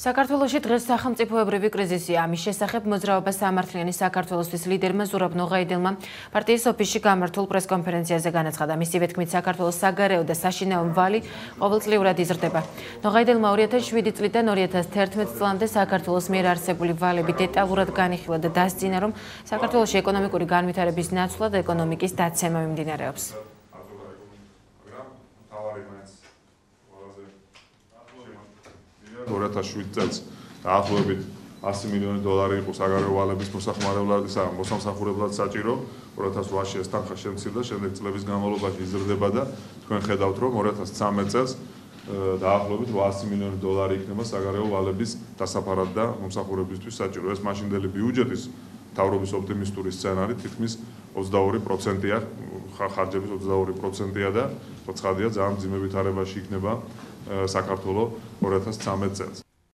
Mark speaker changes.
Speaker 1: საქართველოში დღეს სახელმწიფოებრივი კრიზისია. ამის შესახებ მოძრაობა სამართლიანი საქართველოსთვის ლიდერმა ზურაბ ნოღაიდელმა პარტიის ოფისში გამართულ პრესკონფერენციაზე განაცხადა. მისივე თქმით, საქართველოს საგარეო და საშინაო მვალი ყოველწლიურად იზრდება. ნოღაიდელმა 2007 წლიდან 2011 წლამდე საქართველოს მიერ არსებული ვალები დეტალურად განიხილა და დასძინა, რომ საქართველოში ეკონომიკური განვითარების ნაცვლად ეკონომიკის დაცემა მიმდინარეობს.
Speaker 2: 2007 წელს დაახლოებით 100 მილიონი დოლარი იყო საგარეო ვალების მოსამსახურებლად საჭირო. 2008-ში ეს თანხა შემცირდა, შემდეგ წლების განმავლობაში იზრდება და თქვენ ხედავთ, რომ 2013 წელს დაახლოებით 800 მილიონი დოლარი იქნება საგარეო ვალების დასაფარად და მომსახურებლისთვის საჭირო. ეს მაშინდელი ბიუჯეტის მთავრობის ოპტიმისტური სცენარი თითქმის 22%-ია, ხარჯების 22%-ია და ცხადია, ძალიან მძიმე ვითარებაში იქნება საქართველო 2013 წელს.